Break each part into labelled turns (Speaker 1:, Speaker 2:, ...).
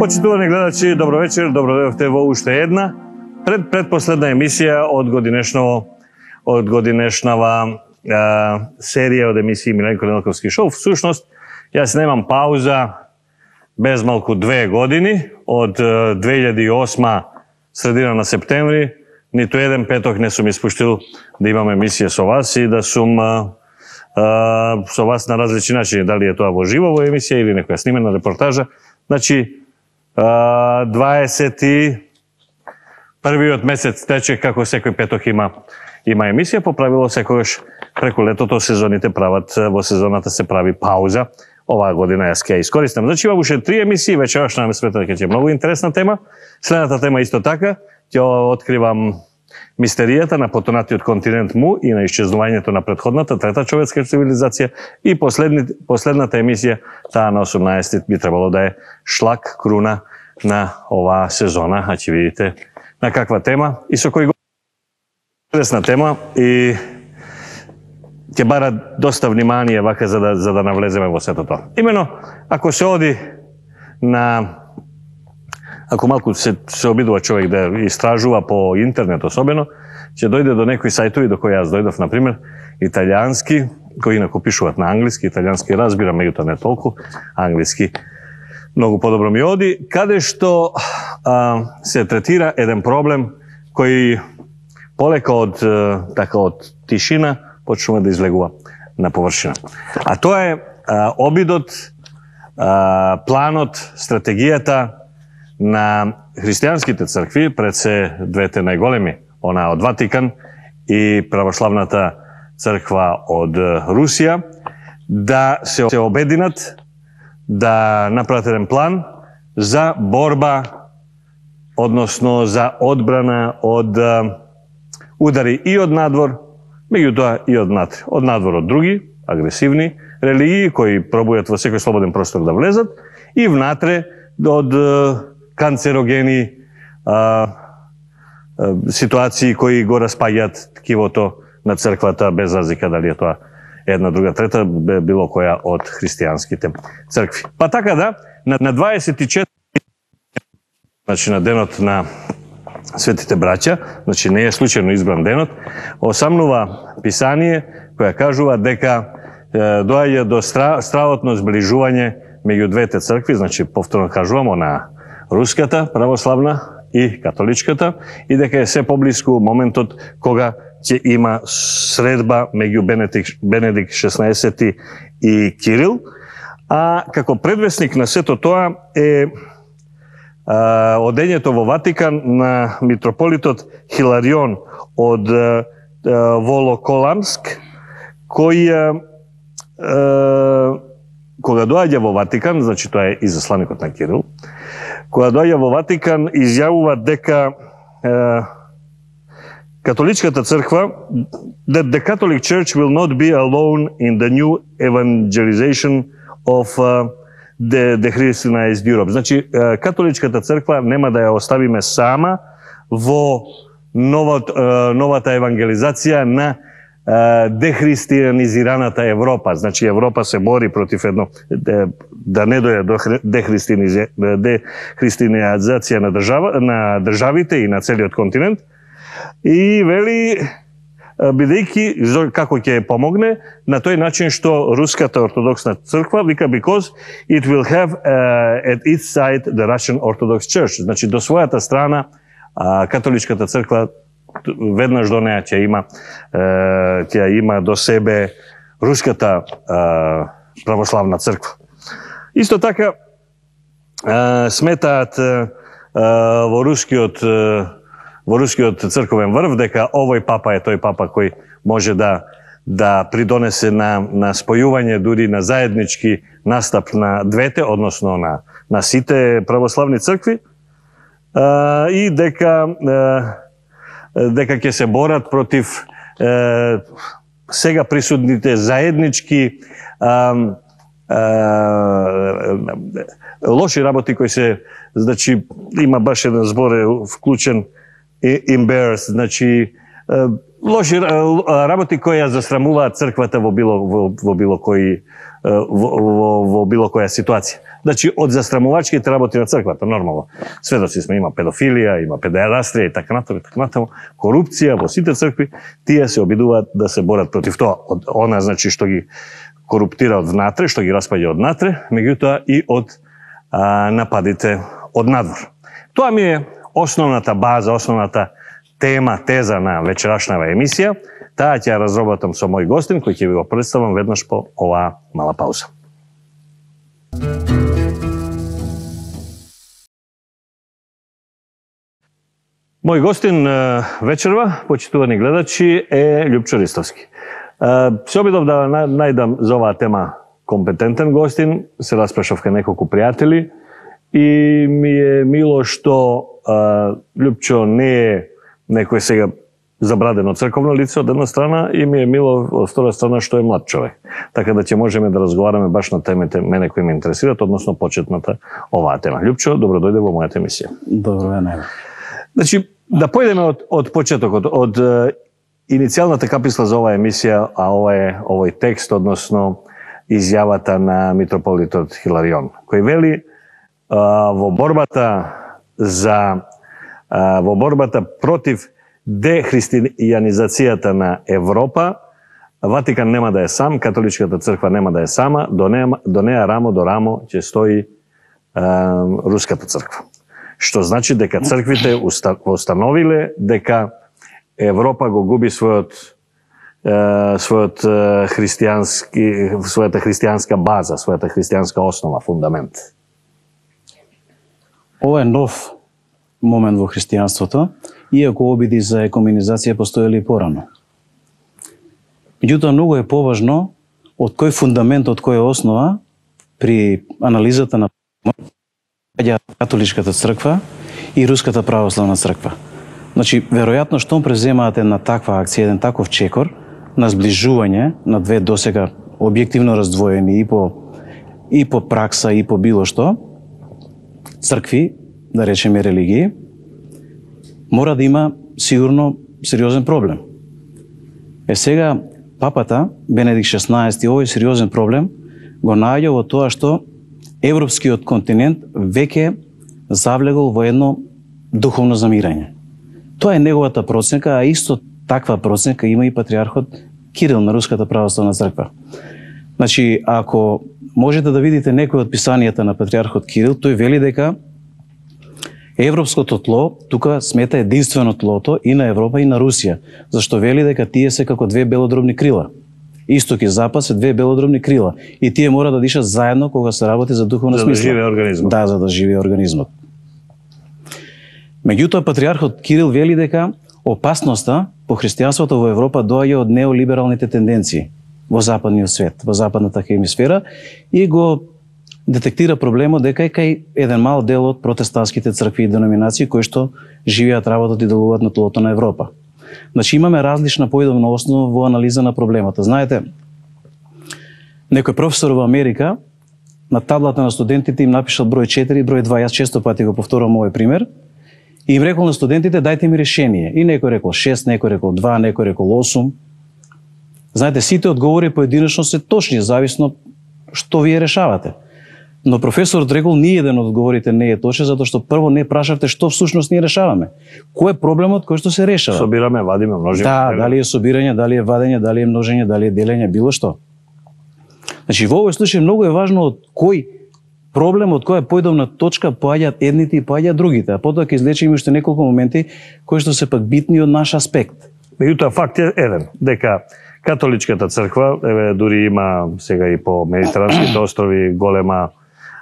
Speaker 1: Почитувани гледачи, добро вечер, добро дојдовте во уште една предпоследна емисија од годинешнава серија од емисии Миленко Неделковски шоу. Всушност, јас немам пауза без малку 2 години, од 2008 средина на септември, ниту еден петок не сум испуштил да имам емисија со вас и да сум со вас на различни начини, дали е тоа во живо во емисија или некоја снимена репортажа. Значи, 21-иот месец тече, како секој петок има емисија, по правило секогаш преку летото сезоните прават, во сезоната се прави пауза. Оваа година јас ќе ја искористам. Значи има уште 3 емисии, вечерашна ме смета дека ќе е многу интересна тема. Следната тема исто така, ќе откривам мистеријата на потонатиот континент Му и на исчезнувањето на претходната, трета човечка цивилизација и последната емисија, таа на 18 би требало да е шлак, круна на оваа сезона, а ќе видите на каква тема и со кој интересна тема и ќе бара доста внимание вака за да навлеземе во сето тоа. Имено, ако се оди ако малку се обидува човек да истражува по интернет особено, ќе дојде до некои сајтови до кои јас дојдов, например, италијански, кои инаку пишуваат на англиски, италијански разбирам, меѓутоа не толку, англиски многу подобро ми оди, каде што се третира еден проблем кој полека од тишина почнува да излегува на површина. А тоа е обидот, планот, стратегијата на христијанските цркви, пред се двете најголеми, она од Ватикан и православната црква од Русија, да се обединат, да направат еден план за борба, односно за одбрана од удари и од надвор, меѓутоа и од внатре. Од надвор од други, агресивни религии, кои пробујат во секој слободен простор да влезат, и внатре од канцерогени ситуации кои го распаѓаат ткивото на црквата, без разлика дали е тоа една, друга, трета, било која од христијанските цркви. Па така да, на 24, значи на денот на Светите браќа, значи не е случајно избран денот, осамнува писание која кажува дека доаѓа до стравотно зближување меѓу двете цркви, значи повторно кажувам, на руската православна и католичката, и дека е се поблиску моментот кога ќе има средба меѓу Бенедикт XVI и Кирил, а како предвесник на сето тоа е одењето во Ватикан на митрополитот Хиларион од Волоколамск, кој кога доаѓа во Ватикан, значи тоа е изасланикот на Кирил, кога доаѓа во Ватикан изјавува дека католичката црква, that the Catholic Church will not be alone in the new evangelization of the Christianized Europe. Значи, католичката црква нема да ја оставиме сама во новата евангелизација на дехристијанизираната Европа. Значи, Европа се бори против едно, да не дојде до дехристијанизација на државите и на целиот континент. И вели, бидејќи како ќе помогне на тој начин што руската ортодоксна црква вика because it will have at its side the Russian Orthodox Church. Значи до својата страна католичката црква веднаш до неа ќе има до себе руската православна црква. Исто така сметаат во рускиот црковен врв дека овој папа е тој папа кој може да придонесе на спојување, дури на заеднички настап на двете, односно на сите православни цркви, и дека ќе се борат против сега присутните заеднички лоши работи кои се, значи има баш еден збор вклучен embarrassed, значи лоши работи кои ја застрамуваат црквата во било која ситуација. Значи, од застрамувачките работи на црквата, нормално. Сведоци сме, има педофилија, има педерастрија и така натаму, корупција во сите цркви, тие се обидуваат да се борат против тоа. Она, значи, што ги коруптира од внатре, што ги распаѓа од натре, меѓутоа и од нападите од надвор. Тоа ми е основната база, основната теза на вечерашнава емисија. Таа ќе ја разработам со мој гостин, кој ќе ви го представам веднаш по оваа мала пауза. Мој гостин вечерва, почитувани гледачи, е Љупчо Ристовски. Се обидов да најдам за оваа тема компетентен гостин, се распрашав кај неколку пријатели и ми е мило што Љупчо не е некој сега забрадено црковно лице од една страна и ми е мило од втора страна што е млад човек. Така да ќе можеме да разговараме баш на темите мене кои ме интересираат, односно почетната оваа тема. Љупчо, добро дојде во мојата емисија.
Speaker 2: Добро е.
Speaker 1: Значи, да појдеме од почетокот, од иницијалната каписла за оваа емисија, а овој текст, односно изјавата на митрополитот Хиларион, кој вели во борбата против дехристијанизацијата на Европа, Ватикан нема да е сам, католичката црква нема да е сама, до неа рамо до рамо ќе стои руската црква. Што значи дека црквите установиле дека Европа го губи својата христијанска база, својата христијанска основа, фундамент.
Speaker 2: Ова е нов момент во христијанството, иако обиди за екуменизација постоеле и порано. Меѓутоа, многу е поважно од кој фундамент, од која основа при анализата на католичката црква и руската православна црква. Значи, веројатно штом преземаате на таква акција, еден таков чекор на сближување на две досега објективно раздвоени и по пракса и по било што, цркви, да речеме религии, мора да има сигурно сериозен проблем. Сега папата Бенедикт XVI овој сериозен проблем го наоѓа во тоа што европскиот континент веќе завлегол во едно духовно замирање. Тоа е неговата проценка, а исто таква проценка има и патриархот Кирил на Руската православна црква. Значи, ако можете да видите некои од писанијата на патриархот Кирил, тој вели дека европското тло тука смета единствено тлото и на Европа и на Русија, зашто вели дека тие се како две белодробни крила. Исток и запад се две белодробни крила и тие мора да дишат заедно кога се работи за духовна смисла.
Speaker 1: За да живее организмот.
Speaker 2: Да, за да живее организмот. Меѓутоа, патриархот Кирил вели дека опасноста по христијанството во Европа доаѓа од неолибералните тенденции во западниот свет, во западната хемисфера и го детектира проблемот дека е кај еден мал дел од протестантските цркви и деноминации кои што живеат, работат и делуваат на тлото на Европа. Значи имаме различна поидовна основа во анализа на проблемата. Знаете, некој професор во Америка на таблата на студентите им напишал број 4 и број 2. Јас често пати го повторувам овој пример. И им рекол на студентите, дајте ми решение. И некој рекол 6, некој рекол 2, некој рекол 8. Знаете, сите одговори поединечно се точни, зависно што вие решавате. Но професорот рекол, ни еден од одговорите не е точен, затоа што прво не прашавте што всушност ние решаваме. Кој е проблемот кој што се решава?
Speaker 1: Собираме, вадиме, множиме.
Speaker 2: Да, дали е собирање, дали е вадење, дали е множење, дали е делење, било што. Значи, во овој случај многу е важно од кој проблем, од која поидовна точка поаѓаат едните и поаѓаат другите, а потоа ќе излечиме уште неколку моменти кои што се пак битни од наш аспект.
Speaker 1: Меѓутоа факт е еден, дека католичката црква, еве дури има сега и по Медитеранските острови голема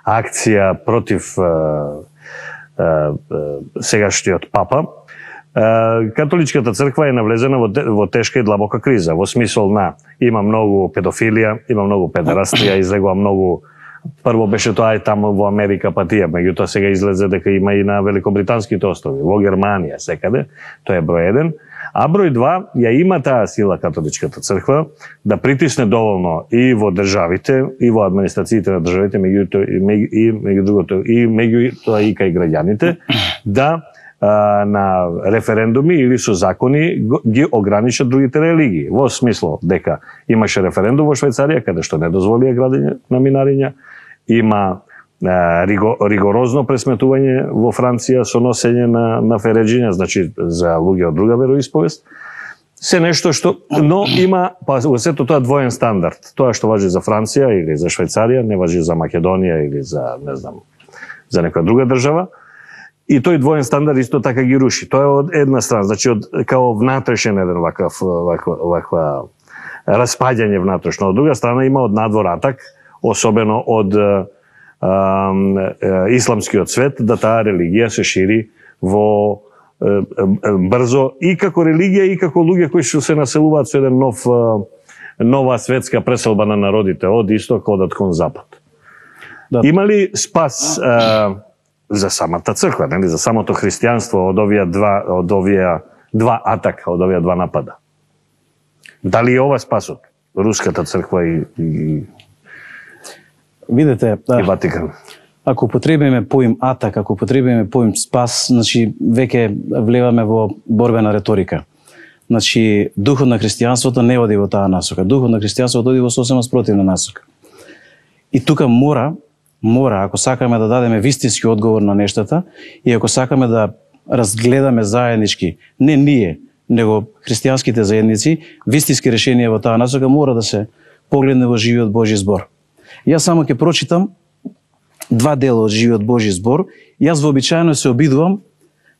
Speaker 1: акција против сегашниот папа. Католичката црква е навлезена во тешка и длабока криза, во смисол на има многу педофилија, има многу педерастрија, излегува многу. Прво беше тоа и таму во Америка патија, меѓутоа сега излезе дека има и на Великобританските острови, во Германија, секаде, тоа е број 1. А број 2, ја има таа сила католичката црква да притисне доволно и во државите, и во администрациите на државите, меѓутоа и кај граѓаните, да на референдуми или со закони ги ограничат другите религии. Во смисло дека имаше референдум во Швајцарија каде што не дозволија градење на минариња, има ригорозно пресметување во Франција со носење на фереџиња, значи за луѓе од друга вероисповест. Се нешто што, но има, па во сето тоа двоен стандард. Тоа што важи за Франција или за Швајцарија, не важи за Македонија или за, не знам, за некоја друга држава. И тој двоен стандард исто така ги руши. Тоа е од една страна, значи од као внатрешен еден ваква распаѓање внатрешно. Од друга страна има од надвор атак, особено од исламскиот свет, да таа религија се шири во брзо и како религија и како луѓе кои што се населуваат со еден нова светска преселба на народите од исток одат кон запад. Да. Има ли спас за самата црква, нели, за самото христијанство од овие два атака, од овие два напада? Дали е ова спасот? Руската црква и
Speaker 2: видете,
Speaker 1: и Ватикан.
Speaker 2: Ако потребиме поим атак, ако потребиме поим спас, значи веќе влеваме во борбена реторика. Значи духот на христијанството не оди во таа насока. Духот на христијанството оди во сосема спротивна насока. И тука мора, ако сакаме да дадеме вистински одговор на нештата и ако сакаме да разгледаме заеднички, не ние, него христијанските заедници, вистински решенија во таа насока мора да се погледне во живиот Божји збор. Јас само ќе прочитам два дела од живиот Божји збор. Јас вообичаено се обидувам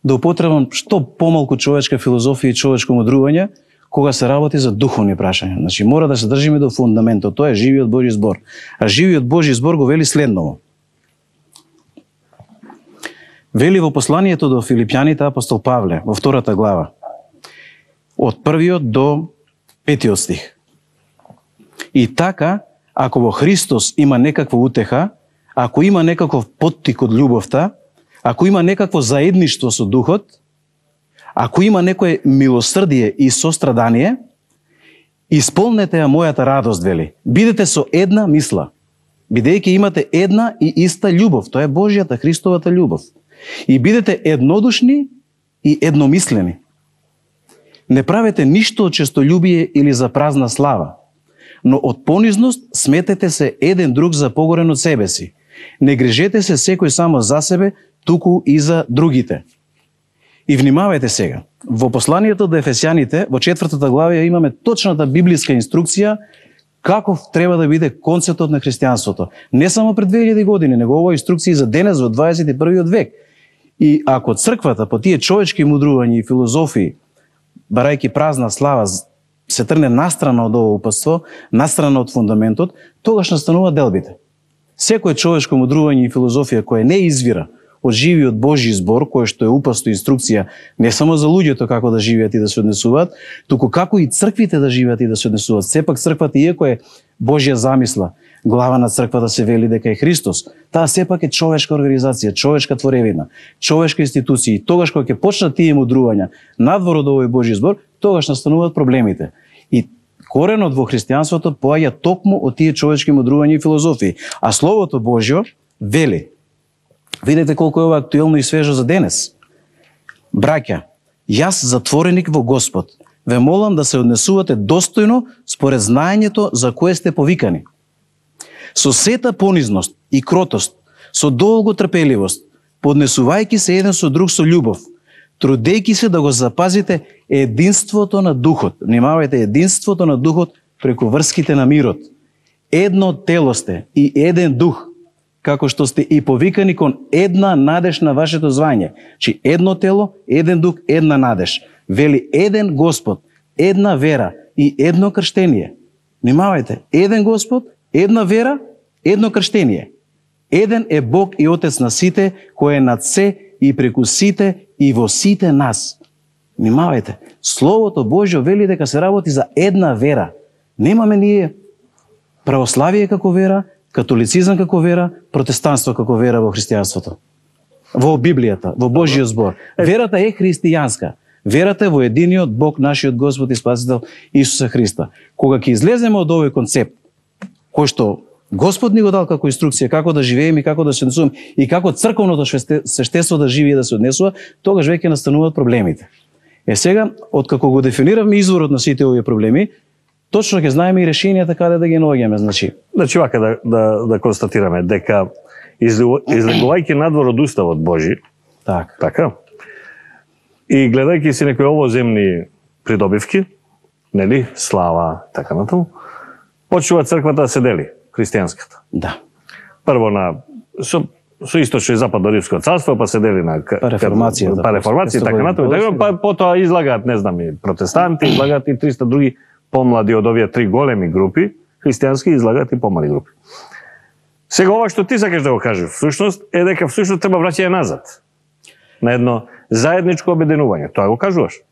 Speaker 2: да употребам што помалку човечка филозофија и човечко мудрување кога се работи за духовни прашања. Значи мора да се држиме до фундаментот, тоа е живиот Божји збор. А живиот Божји збор го вели следново. Вели во посланието до Филипјаните апостол Павле во 2 глава, од 1 до 5 стих. И така, ако во Христос има некаква утеха, ако има некаков поттик од љубовта, ако има некакво заедништво со духот, ако има некое милосрдие и сострадание, исполнете ја мојата радост, вели. Бидете со една мисла, бидејќи имате една и иста љубов, тоа е Божјата, Христовата љубов. И бидете еднодушни и едномислени. Не правете ништо од честолюбие или за празна слава, но од понизност сметете се еден друг за погорен од себе си. Не грижете се секој само за себе, туку и за другите. И внимавајте сега, во посланието до Ефесјаните, во 4 глава имаме точната библиска инструкција каков треба да биде концептот на христијанството. Не само пред 2000 години, него ова инструкција за денес во 21 век. И ако црквата по тие човечки мудрувања и филозофии, барајќи празна слава, се трне настрана од ово упатство, настрана од фундаментот, тогаш настанува делбите. Секој човечко мудрување и филозофија која не извира од живиот Божји збор, кој што е упасто инструкција не само за луѓето како да живеат и да се однесуваат, туку како и црквите да живеат и да се однесуваат. Сепак црквата, иако е Божја замисла, глава на црквата се вели дека е Христос, таа сепак е човечка организација, човечка творевина, човечка институција. И тогаш кога ќе почнат тие мудрувања надвор од овој Божји збор, тогаш настануваат проблемите. И коренот во христијанството поаѓа токму од тие човечки мудрувања и филозофии. А Словото Божјо вели, видете колку е ова актуелно и свежо за денес. Браќа, јас затвореник во Господ, ве молам да се однесувате достојно според знаењето за кое сте повикани. Со сета понизност и кротост, со долго трпеливост, поднесувајќи се еден со друг со љубов, трудејќи се да го запазите единството на духот. Внимавајте, единството на духот преку врските на мирот. Едно тело сте и еден дух, како што сте и повикани кон една надеж на вашето звање. Чи едно тело, еден дух, една надеж. Вели еден Господ, една вера и едно крштение. Внимавајте, еден Господ, една вера, едно крштение. Еден е Бог и Отец на сите, кој е над се и преку сите и во сите нас. Внимавајте, Словото Божјо вели дека се работи за една вера. Немаме ние православие како вера, католицизам како вера, протестанство како вера во христијанството. Во Библијата, во Божјиот збор. Верата е христијанска. Верата е во единиот Бог, нашиот Господ и Спасител Исуса Христа. Кога ќе излеземе од овој концепт, кој што Господ ни го дал како инструкција како да живееме и како да се однесуваме и како црковното свештенство да живее и да се однесува, тогаш веќе настануваат проблемите. Сега, откако го дефиниравме изворот на сите овие проблеми, точно ќе знаеме и решенијата каде да ги наоѓаме, значи
Speaker 1: вака да констатираме дека излегувајќи надвор од уставот Божи, така, и гледајќи си некои овоземни придобивки, нели, слава, така натаму, почнува црквата да се дели, христијанската.
Speaker 2: Да.
Speaker 1: Прво со источно и западно римско царство, па се дели на реформација, така натаму, па потоа излагаат, не знам, и протестанти, излагаат и 300 други помлади од овие три големи групи, христијански, излагаат и помали групи. Сега ова што ти сакаш да го кажеш, всушност е дека всушност треба враќање назад на едно заедничко обединување. Тоа го кажуваш?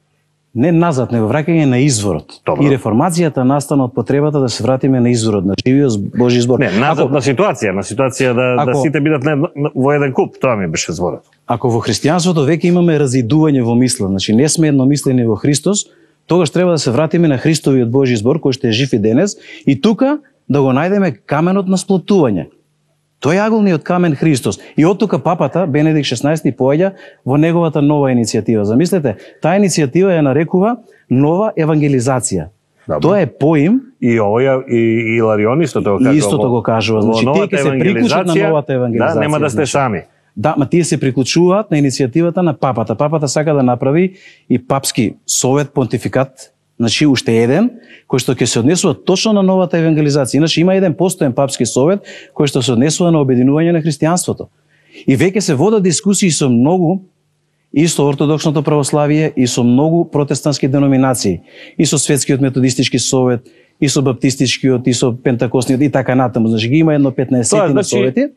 Speaker 2: Не назад, него враќање на изворот.
Speaker 1: Добро.
Speaker 2: И реформацијата настана од потребата да се вратиме на изворот, на живиот Божи збор.
Speaker 1: Не, назад на ситуација да сите бидат во еден куп, тоа ми беше зборот.
Speaker 2: Ако во христијанството веќе имаме разидување во мисла, значи не сме едномислени во Христос, тогаш треба да се вратиме на Христовиот Божи збор кој што е жив и денес и тука да го најдеме каменот на сплотување. Тој е аголниот камен Христос. И од тука папата, Бенедикт 16, поаѓа во неговата нова иницијатива. Замислете, таа иницијатива ја нарекува нова евангелизација. Добре. Тоа е поим.
Speaker 1: И овоја и Иларион истото го кажува.
Speaker 2: Истото го кажува. Значи, тие ќе се приклучат на новата евангелизација.
Speaker 1: Да, нема да сте сами.
Speaker 2: Да, ма тие се приклучуваат на иницијативата на папата. Папата сака да направи и папски совет, понтификат, значи уште еден, кој што ќе се однесува точно на новата евангелизација. Иначе има еден постоен папски совет кој што се однесува на обединување на христијанството. И веќе се водат дискусии со многу и со ортодоксното православие и со многу протестантски деноминации, и со светскиот методистички совет, и со баптистичкиот, и со пентакостниот и така натаму. Значи ги има едно 15 на совети.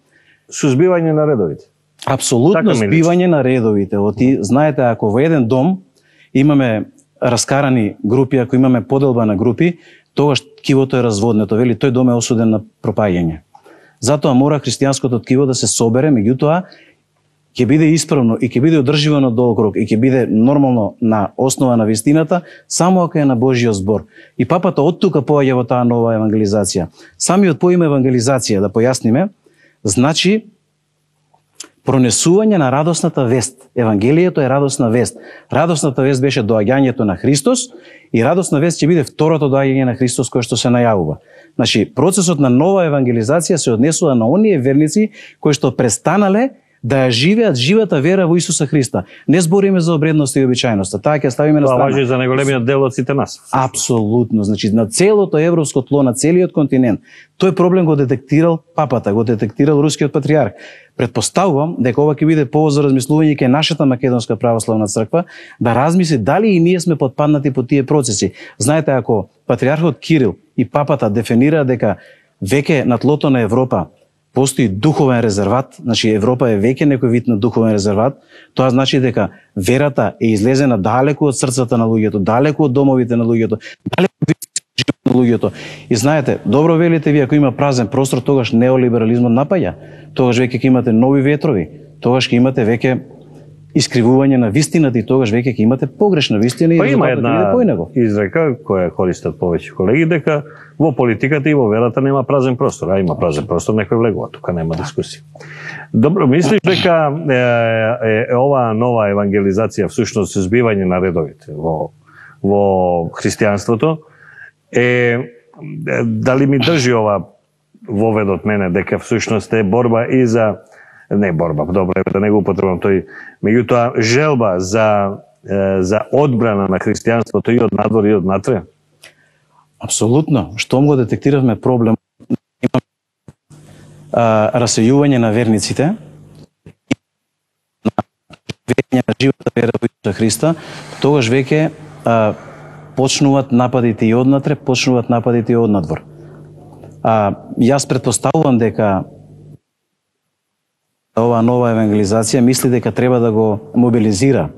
Speaker 1: Сузбивање на редовите.
Speaker 2: Апсолутно збивање на редовите. Знаете, ако во еден дом имаме раскарани групи, ако имаме поделба на групи, тогаш ткивото е разводнето, вели тој дом е осуден на пропаѓање. Затоа мора христијанското ткиво да се собере, меѓутоа ќе биде исправно и ќе биде одрживо на долг рок и ќе биде нормално на основа на вистината, само ако е на Божиот збор. И папата од тука поаѓа во таа нова евангелизација. Самиот поим евангелизација, да појасниме, значи пронесување на радосната вест. Евангелието е радосна вест. Радосната вест беше доаѓањето на Христос и радосна вест ќе биде второто доаѓање на Христос кој што се најавува. Значи, процесот на нова евангелизација се однесува на оние верници кои што престанале да ја живеат живата вера во Исуса Христа. Не збориме за обредност и обичајност, таа ќе ставиме на страна.
Speaker 1: Тоа важи за најголемиот дел од сите нас.
Speaker 2: Апсолутно, значи на целото европско тло, на целиот континент. Тој проблем го детектирал папата, го детектирал рускиот патриарх. Предпоставувам дека ова ќе биде повод за размислување кај нашата македонска православна црква да размисли дали и ние сме потпаднати по тие процеси. Знаете, ако патриархот Кирил и папата дефинира дека веќе на тлото на Европа постои духовен резерват, значи Европа е веќе некој вид на духовен резерват, тоа значи дека верата е излезена далеку од срцата на луѓето, далеку од домовите на луѓето, далеку од животот на луѓето. И знаете, добро велите ви, ако има празен простор, тогаш неолиберализмот напаѓа. Тогаш веќе ќе имате нови ветрови, тогаш ќе имате веќе искривување на вистината и тогаш веќе ќе имате погрешна вистина и
Speaker 1: резултатот ќе биде поинаго. Изрека која користат повеќе колеги дека во политиката и во верата нема празен простор, а има празен простор, некој влегува, тука нема дискусија. Добро, мислиш дека ова нова евангелизација всушност збивање на редовите во христијанството дали ми држи ова воведот мене дека всушност е борба и за не борба, добро е да не го употребам тој, меѓутоа желба за одбрана на христијанството и од надвор и од натре?
Speaker 2: Апсолутно. Штом го детектиравме проблем, расејување на верниците, на живата вера во Исуса Христа, тогаш веќе почнуваат нападите и однатре, почнуваат нападите и однадвор. Јас предпоставувам дека ова нова евангелизација мисли дека треба да го мобилизира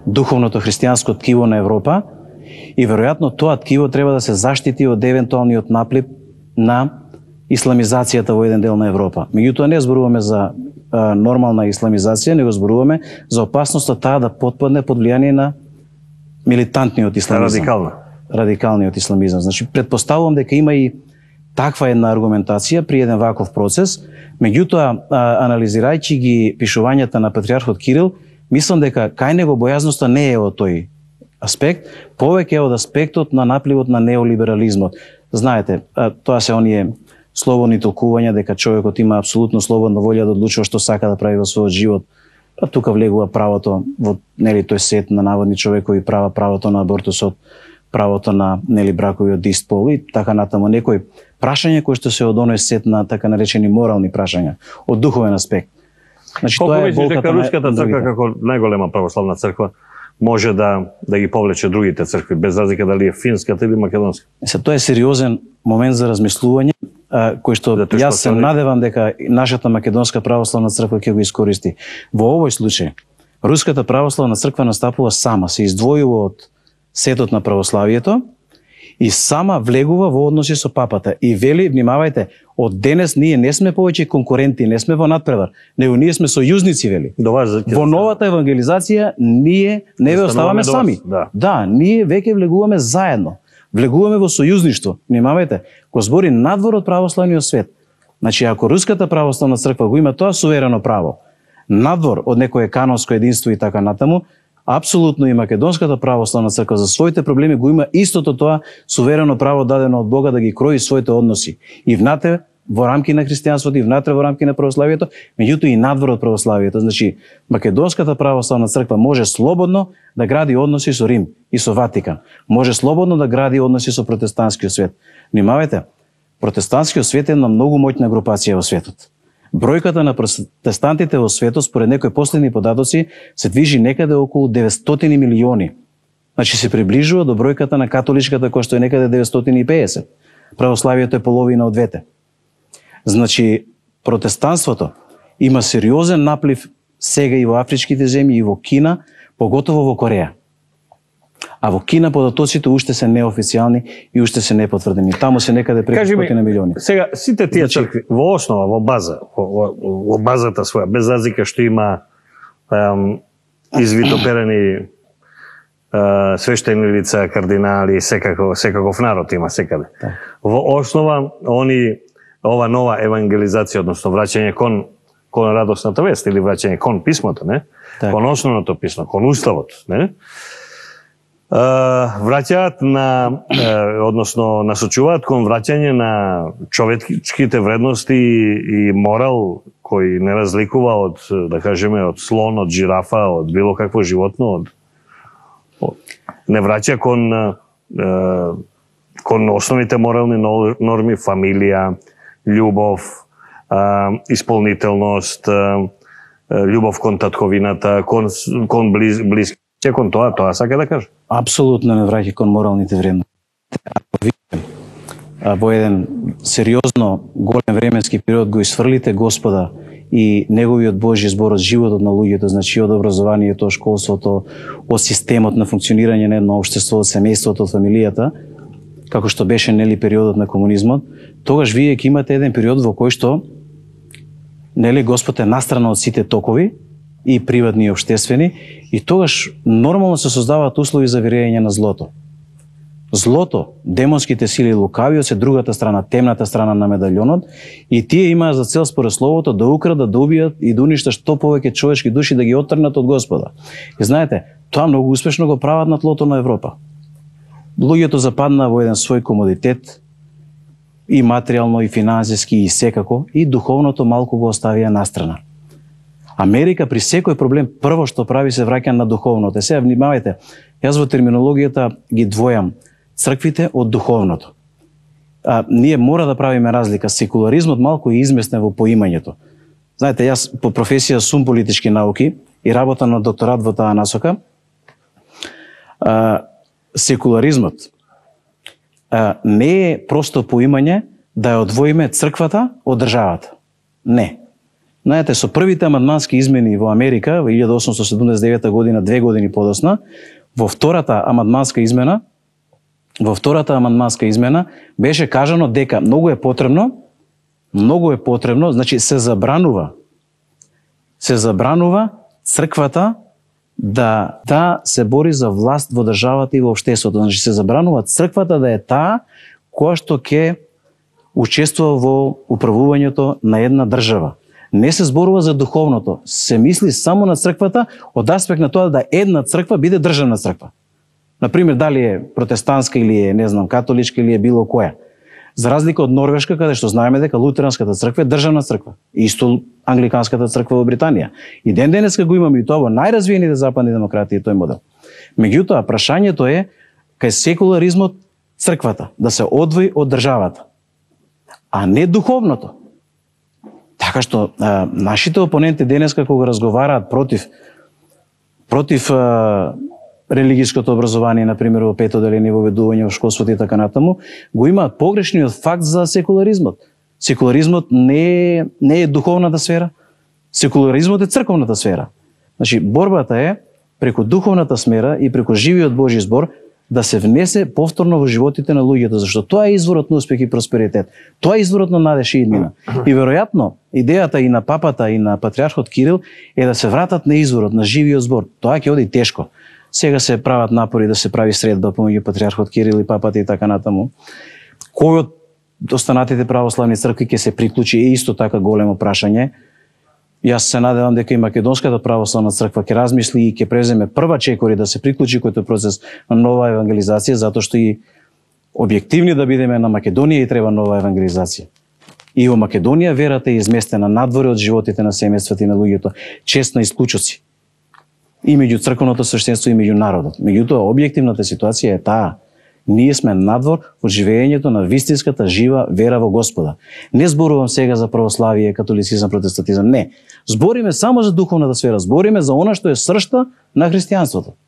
Speaker 2: духовното христијанско ткиво на Европа и веројатно тоа ткиво треба да се заштити од евентуалниот наплив на исламизацијата во еден дел на Европа. Меѓутоа не зборуваме за нормална исламизација, него зборуваме за опасноста таа да потпадне под влијание на милитантниот исламизам.
Speaker 1: Радикалниот
Speaker 2: исламизам. Значи предпоставувам дека има и таква една аргументација при еден ваков процес. Меѓутоа, анализирајќи ги пишувањата на патриархот Кирил, мислам дека кај него бојазноста не е од тој аспект, повеќе од аспектот на напливот на неолиберализмот. Знаете, тоа се оние слободни толкувања дека човекот има апсолутно слободна волја да одлучува што сака да прави во својот живот. Па тука влегува правото во тој сет на наводни човекови права, правото на абортусот, правото на бракови од ист пол и така натаму некои прашања кои што се од оној сет на така наречени морални прашања, од духовен аспект. Значи тоа е болката
Speaker 1: дека руската црква како најголема православна црква може да ги повлече другите цркви без разлика дали е финската или македонска. Тоа
Speaker 2: е сериозен момент за размислување кој што јас се надевам дека нашата македонска православна црква ќе го искористи. Во овој случај руската православна црква настапува сама, се издвојува од сетот на православието и сама влегува во односи со папата и вели, внимавајте, од денес ние не сме повеќе конкуренти, не сме во надпревар, него ние сме сојузници, вели. Во новата евангелизација ние не ве оставаме сами. Да, ние веќе влегуваме заедно. Влегуваме во сојузништво. Внимавајте, го збори надвор од православниот свет. Значи, ако руската православна црква го има тоа суверено право, надвор од некое канонско единство и така натаму, апсолутно и македонската православна црква за своите проблеми го има истото тоа суверено право дадено од Бога да ги крои своите односи. И внатре во рамки на христијанството, и внатре во рамки на православието, меѓутоа и надвор од православието. Значи, македонската православна црква може слободно да гради односи со Рим и со Ватикан. Може слободно да гради односи со протестантскиот свет. Внимавајте, протестантскиот свет е една многу моќна групација во светот. Бројката на протестантите во светот, според некои последни податоци, се движи некаде околу 900 милиони. Значи се приближува до бројката на католичката, која што е некаде 950. Православието е половина од двете. Значи, протестанството има сериозен наплив сега и во афричките земји, и во Кина, поготово во Кореја. А во Кина податоците уште се неофицијални и уште се непотврдени. Таму се некаде преку 100 милиони.
Speaker 1: Сега, сите тие цркви, во основа, во база, во базата своја, без разлика што има извитоперени свештени лица, кардинали, секаков народ има секаде. Во основа, ова нова евангелизација, односно враќање кон радосната вест или враќање кон писмото, не? Кон основното писмо, кон уставот, не? Враќаат односно насочуваат кон враќање на човечките вредности и морал кој не разликува од, да кажеме, од слон, од жирафа, од било какво животно, не враќа кон основните морални норми, фамилија, љубов, исполнителност, љубов кон татковината, кон близки. Кон тоа сака да кажа.
Speaker 2: Апсолутно не враќа кон моралните вредности. Во еден сериозно голем временски период го исфрлите Господа и неговиот Божји збор од животот на луѓето, значи од образованието, школството, од системот на функционирање на едно општество, од семејството, од фамилијата, како што беше нели периодот на комунизмот, тогаш вие ќе имате еден период во кој што нели Господ е настрана од сите токови и приватни и општествени, и тогаш нормално се создаваат услови за вирење на злото. Злото, демонските сили, лукавиот се другата страна, темната страна на медалјонот, и тие имаат за цел според словото да украдат, да убијат и да уништат што повеќе човечки души, да ги оттргнат од Господа. И знаете, тоа многу успешно го прават на тлото на Европа. Луѓето западнаа во еден свој комодитет, и материјално, и финансиски, и секако, и духовното малку го оставија настрана. Америка при секој проблем прво што прави се враќа на духовното. Сега внимавајте, јас во терминологијата ги двојам црквите од духовното. Ние мора да правиме разлика. Секуларизмот малку е изместен во поимањето. Знаете, јас по професија сум политички науки и работам на докторат во таа насока. Секуларизмот не е просто поимање да ја одвоиме црквата од државата. Не. Знаете, со првите амандмански измени во Америка во 1879 година, 2 години подосна, во втората амандманска измена беше кажано дека многу е потребно, значи се забранува црквата да се бори за власт во државата и во општеството. Значи се забранува црквата да е таа која што ќе учествува во управувањето на една држава. Не се зборува за духовното, се мисли само на црквата од аспект на тоа да една црква биде државна црква. Например, дали е протестантска или е, не знам, католичка или е било која. За разлика од Норвешка, каде што знаеме дека лутеранската црква е државна црква. Исто англиканската црква во Британија. И ден денеска го имаме и тоа во најразвиените западни демократии тој модел. Меѓутоа, прашањето е кај секуларизмот црквата да се одвои од државата, а не духовното. Така што нашите опоненти денеска кога разговараат против религиското образование, например, во пето деление, во ведување во школството и така натаму, го имаат погрешниот факт за секуларизмот. Секуларизмот не е духовната сфера, секуларизмот е црковната сфера. Значи, борбата е преку духовната сфера и преку живиот Божји збор да се внесе повторно во животите на луѓето, зашто тоа е изворот на успех и просперитет. Тоа е изворот на надеж и иднина. И веројатно, идејата и на папата и на патриархот Кирил е да се вратат на изворот, на живиот збор. Тоа ќе оди тешко. Сега се прават напори да се прави средба помеѓу патриархот Кирил и папата и така натаму. Кој од останатите православни цркви ќе се приклучи е исто така големо прашање. Јас се надевам дека и Македонската православна црква ќе размисли и ќе преземе прва чекори да се приклучи кој тој процес на нова евангелизација, затоа што и објективни да бидеме, на Македонија и треба нова евангелизација. И во Македонија верата е изместена надвор од животите на семејствата и на луѓето, чест на исклучоци. И меѓу црковното свештенство и меѓу народот. Меѓутоа, објективната ситуација е таа. Ние сме надвор од живеењето на вистинската жива вера во Господа. Не зборувам сега за православие, католицизам, протестантизам, не. Збориме само за духовната сфера, збориме за она што е сршта на христијанството.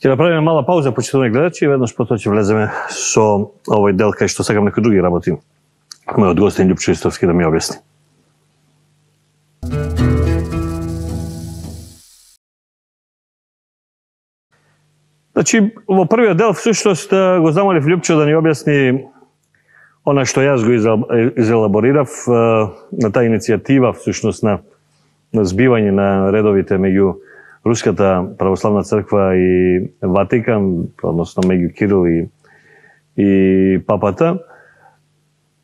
Speaker 1: Ќе направиме мала пауза, почитувани гледачи, и веднаш потоа ќе влеземе со овој дел кај што сакам некои други работи. Мојот гостин Љупчо Истовски да ми објасни. Значи, во првиот дел, всушност, го замолив Љупчо да ни објасни она што јас го изелаборирав на таа иницијатива, всушност, на збивање на редовите меѓу Руската православна црква и Ватикан, односно меѓу Кирил и папата,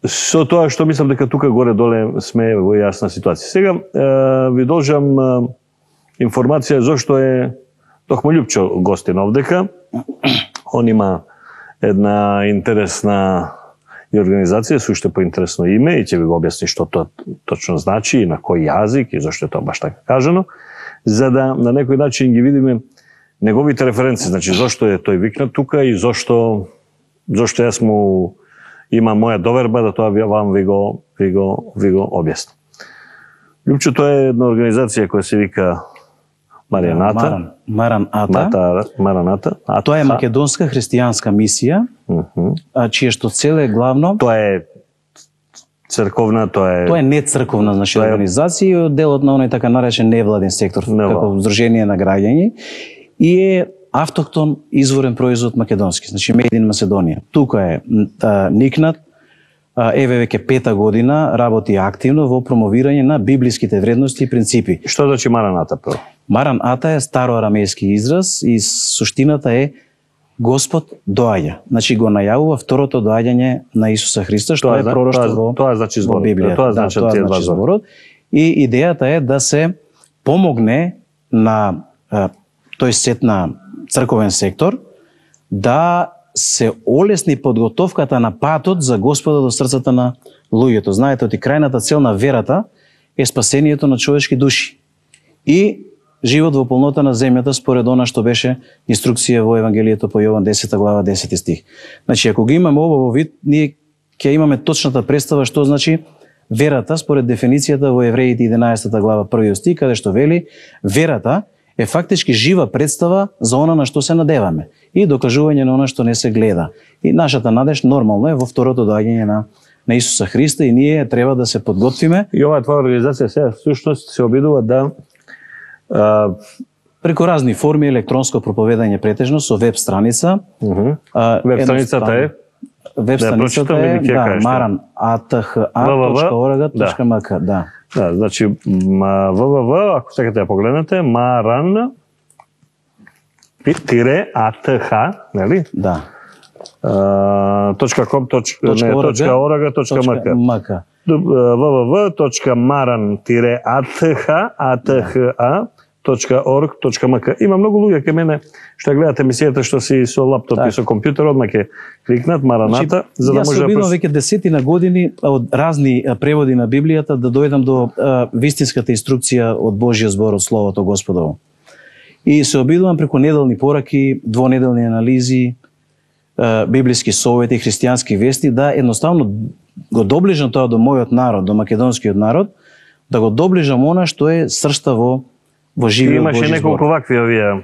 Speaker 1: со тоа што мислам дека тука горе-доле сме во јасна ситуација. Сега ви должам информација зошто е токму Љупчо гостин овдека. Он има една интересна и организација, сушто поинтересно име, и ќе ви го објасни што тоа точно значи и на кој јазик и зошто е тоа баш така кажано, за да на некој начин ги видиме неговите референции, значи зошто е тој викнат тука и зошто јас му има моја доверба да тоа вам ви го објасни. Љупчо, тоа е една организација која се вика Мараната.
Speaker 2: Тоа е македонска христијанска мисија, чијешто цел е главно.
Speaker 1: Тоа е црковна,
Speaker 2: тоа е не црковна, значи организација, делот на оној така наречен невладен сектор, како здружение на граѓани, и е автохтон изворен производ македонски, значи Made in Macedоnia. Тука е никнат, еве веќе 5-та година работи активно во промовирање на библиските вредности и принципи.
Speaker 1: Што значи Мараната прво?
Speaker 2: Мараната е староарамејски израз и суштината е Господ доаѓа. Значи го најавува второто доаѓање на Исуса Христа, што е пророштво во Библијата.
Speaker 1: Тоа значи
Speaker 2: зборот. И идејата е да се помогне на тој сет на црковен сектор да се олесни подготовката на патот за Господа до срцата на луѓето. Знаете, оти крајната цел на верата е спасението на човечки души и живот во полнота на земјата според она што беше инструкција во Евангелието по Јован 10 глава 10 стих. Значи, ако ги имаме ово во вид, ние ќе имаме точната представа што значи верата според дефиницијата во Евреите 11 глава 1 стих, каде што вели верата е фактички жива представа за она на што се надеваме и докажување на она што не се гледа. И нашата надеж нормално е во второто доаѓање на Исуса Христа и ние треба да се подготвиме.
Speaker 1: И оваа твоја организација сега всушност се обидува да
Speaker 2: преку разни форми електронско проповедање претежно со веб страница.
Speaker 1: Веб страницата е
Speaker 2: maran.ath.org.mk, да.
Speaker 1: Да, значи www, ако сакате да погледнете, maran-ath, нели?
Speaker 2: Да.
Speaker 1: .com.org.mk www.maran-atha.org.mk. Има многу луѓе кај мене што гледате емисијата што си со лаптоп и со компјутер, одма ќе кликнат Мараната, за да може да...
Speaker 2: Јас обидам веќе десетина години од разни преводи на Библијата да дојдам до вистинската инструкција од Божјиот збор, од Словото Господово. И се обидувам преку неделни пораки, двонеделни анализи, библиски совети, христијански вести, да едноставно го доближам тоа до мојот народ, до македонскиот народ, да го доближам она што е сршта во живиот Божји збор.
Speaker 1: Имаше неколку вакви овие...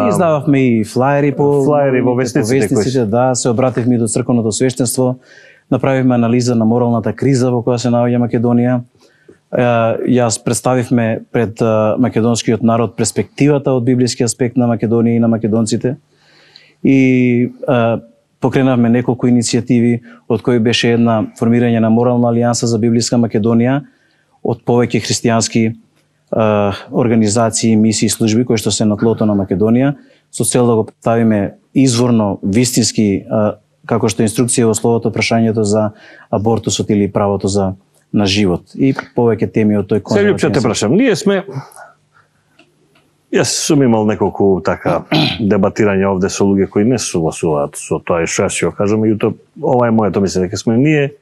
Speaker 2: Издававме и флаери
Speaker 1: во вестниците,
Speaker 2: да, се обративме и до црковното свештенство, направивме анализа на моралната криза во која се наоѓа Македонија. Јас представивме пред македонскиот народ перспективата од библиски аспект на Македонија и на македонците. И покренавме неколку иницијативи, од кои беше една формирање на морална алијанса за библиска Македонија од повеќе христијански организации, мисии и служби кои што се на тлото на Македонија, со цел да го представиме изворно, вистински, како што инструкција во Словото, прашањето за абортусот или правото на живот и повеќе теми од тој конзервативен.
Speaker 1: Се Лјупче, те прашам, ние сме... Јас сум имал неколку така дебатирања овде со луѓе кои не согласуваат со тоа што јас ќе кажам, меѓутоа ова е моето мислење, дека сме ние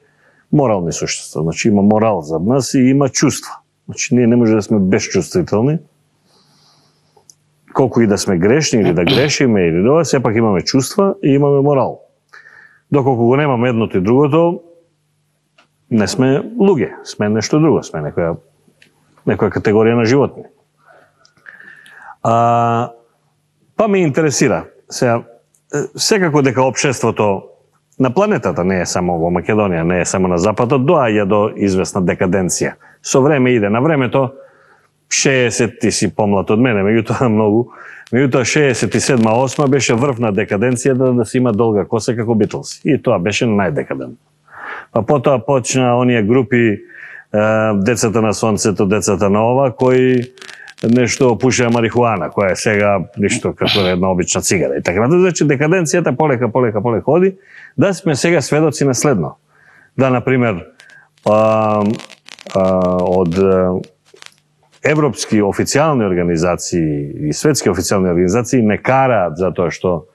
Speaker 1: морални суштества. Значи има морал за нас и има чувства. Значи ние не може да сме безчувствителни. Колку и да сме грешни или да грешиме или да, сепак имаме чувства и имаме морал. Доколку го немаме едното и другото, не сме луѓе, сме нешто друго, сме некоја категорија на животни. Па ме интересира, секако дека општеството на планетата, не е само во Македонија, не е само на Западот, доаѓа до известна декаденција. Со време иде, на времето 60 ти си помлад од мене, меѓутоа многу, меѓутоа 67-8 беше врв на декаденција да се има долга коса како Битлз. И тоа беше најдекадентно. Па потоа почна оние групи децата на сонцето, децата на ова, кои нешто пушеа марихуана, која е сега ништо како една обична цигара и така натаму. Значи декаденцијата полека оди, да сме сега сведоци на следно. Да, например, од европски официјални организации и светски официјални организации не караат затоа што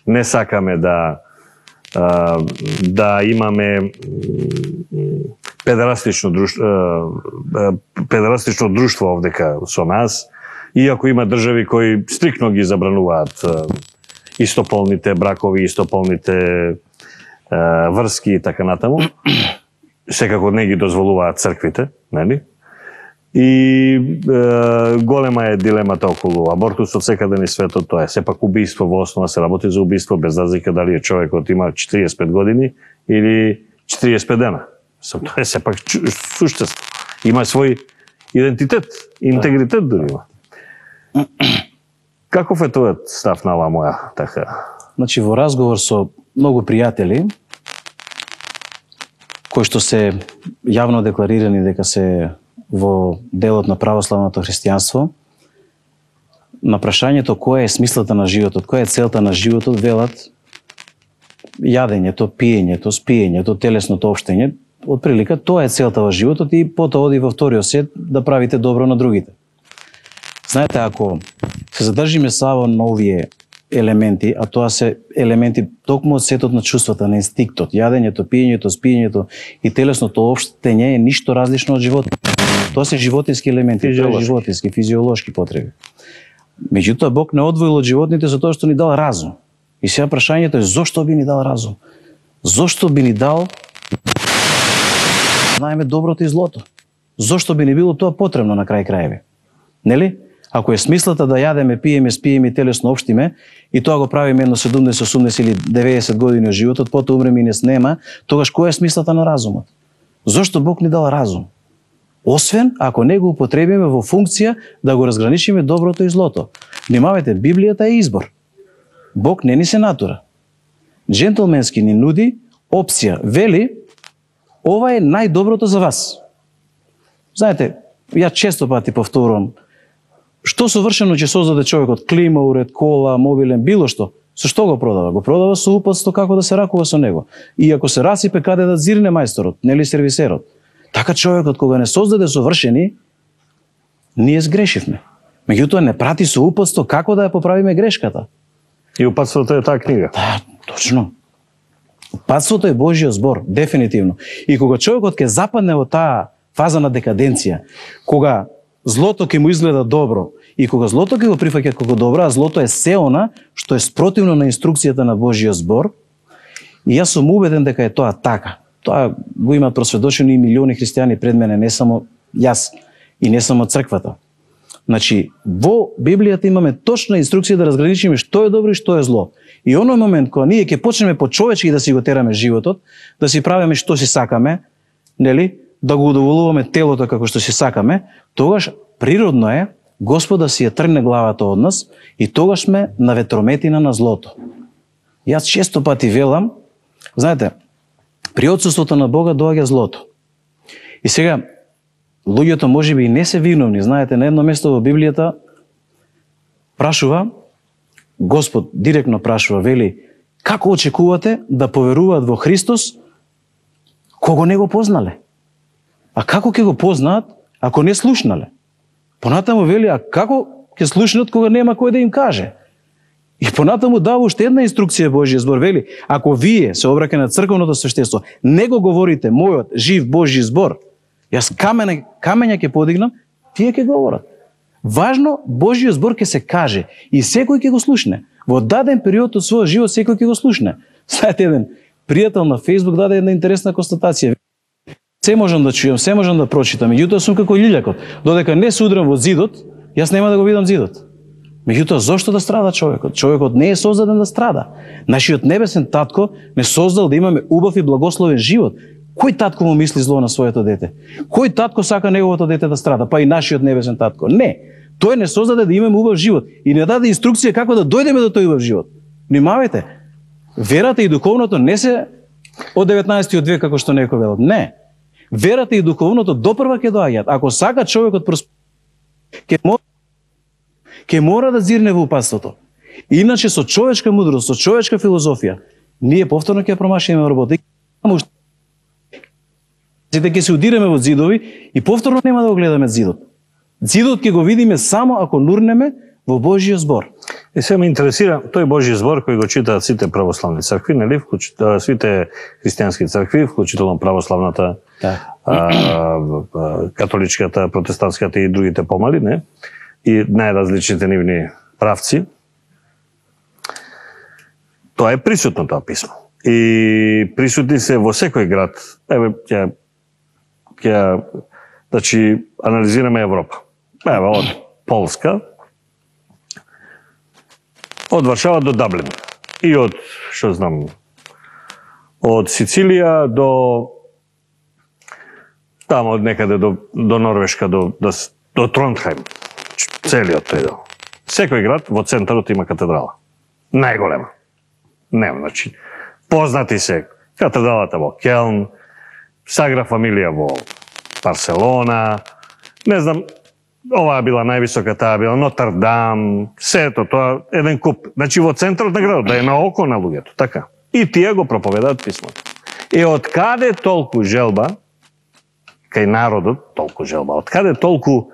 Speaker 1: не сакаме да имаме педерастично друштво овдека со нас, иако има држави кои стрикно ги забрануваат истополните бракови, истополните врски и така натаму. Секако не ги дозволуваат црквите, нели? И голема е дилемата околу абортусот секаде низ светот, тоа е сепак убиство, во основа се работи за убиство, без разлика дали е човекот има 45 години или 45 дена. Тоа е сепак суштество. Има свој идентитет, интегритет дори има. Каков е твојот став на ова моја така?
Speaker 2: Значи во разговор со многу пријатели кои што се јавно декларирани дека се во делот на православното христијанство, на прашањето која е смислата на животот, која е целта на животот, велат јадењето, пиењето, спиењето, телесното општење, отприлика тоа е целта во животот и потоа оди во вториот свет да правите добро на другите. Знаете, ако се задржиме само на овие елементи, а тоа се елементи токму од сетот на чувствата, на инстинктот, јадењето, пиењето, спиењето и телесното општење е ништо различно од животот. Тоа се животински елементи, животински, физиолошки потреби. Меѓутоа, Бог не одвоил од животните за тоа што ни дал разум. И сега прашањето е зошто би ни дал разум? Зошто би ни дал знаеме доброто и злото? Зошто би ни било тоа потребно на крај краеви? Нели? Ако е смислата да јадеме, пиеме, спиеме и телесно општиме и тоа го правиме едно 70, 80 или 90 години од животот, потоа умреме и не снема, тогаш која е смислата на разумот? Зошто Бог ни дал разум? Освен ако не го употребиме во функција да го разграничиме доброто и злото. Внимавајте, Библијата е избор. Бог не ни се натура. Джентлменски ни нуди опција. Вели, ова е најдоброто за вас. Знаете, ја често пати повторувам, што совршено ќе создаде човекот, клима, уред, кола, мобилен, било што, Со што го продава? Го продава со упатство како да се ракува со него. И ако се расипе, каде да зирне мајсторот, нели сервисерот. Така човекот кога не создаде совршени, ние сгрешивме. Меѓутоа не прати со упатство како да ја поправиме грешката.
Speaker 1: И упатството е таа книга.
Speaker 2: Да, точно. Упатството е Божјиот збор, дефинитивно. И кога човекот ќе западне во таа фаза на декаденција, кога злото ќе му изгледа добро и кога злото ќе го прифаќа како добро, а злото е се она што е спротивно на инструкцијата на Божјиот збор, и јас сум убеден дека е тоа така. Тоа го имаат просведочени и милиони христијани пред мене, не само јас и не само црквата. Значи, во Библијата имаме точна инструкција да разграничиме што е добро и што е зло. И оној момент кога ние ќе почнеме по човечки да си го тераме животот, да си правиме што си сакаме, нели, да го удоволуваме телото како што си сакаме, тогаш природно е Господ да си ја тргне главата од нас и тогаш сме на ветрометина на злото. Јас често пати велам, знаете, при отсуството на Бога доаѓа злото. И сега, луѓето можеби и не се виновни, знаете, на едно место во Библијата прашува, Господ директно прашува, вели, како очекувате да поверуваат во Христос кого не го познале? А како ќе го познаат ако не слушнале? Понатаму вели, а како ќе слушнат кога нема кој да им каже? И понатаму дава уште една инструкција Божјиот збор, вели, ако вие се обраќа на црковното свештенство, не го говорите мојот жив Божји збор, јас камења ќе подигнам, тие ќе говорат. Важно, Божјиот збор ќе се каже и секој ќе го слушне. Во даден период од својот живот секој ќе го слушне. Знаете, еден пријател на Facebook даде една интересна констатација. Се можам да чујам, се можам да прочитам, меѓутоа сум како лилјакот. Додека не се удрам во зидот, јас нема да го видам зидот. Меѓутоа, зошто да страда човекот? Човекот не е создаден да страда. Нашиот небесен татко не создал да имаме убав и благословен живот. Кој татко му мисли зло на своето дете? Кој татко сака неговото дете да страда? Па и нашиот небесен татко. Не. Тој не создаде да имаме убав живот и не даде инструкција како да дојдеме до тој убав живот. Внимавајте. Верата и духовното не се од 19 век како што некој велат. Не. Верата и духовното допрва ќе доаѓаат. Ако сака човекот ќе мора да зирне во упатството. Иначе со човечка мудрост, со човечка филозофија, ние повторно ќе промашиме работа. Сите ќе се удиреме во зидови и повторно нема да го гледаме зидот. Зидот ќе го видиме само ако нурнеме во Божјиот збор.
Speaker 1: И се ме интересира тој Божји збор кој го читаат сите православни цркви, нели, сите христијански цркви, вклучително православната, католичката, протестантската и другите помали, не? И најразличните нивни правци. Тоа е присутно тоа писмо. И присутни се во секој град. Еве ќе значи анализираме Европа. Еве од Полска, од Варшава до Даблин. И од, што знам, од Сицилија до тамо од некаде до Норвешка, до Тронхајм. Целиот тој дел. Секој град во центарот има катедрала. Најголема. Нема, значи, познати се катедралата во Келн, Сагра Фамилија во Барселона, не знам, оваа била највисока, таа била Нотр-Дам, сето тоа, еден куп. Значи во центарот на градот, да е на око на луѓето, така. И тие го проповедаат писмото. И од каде толку желба, кај народот толку желба, од каде толку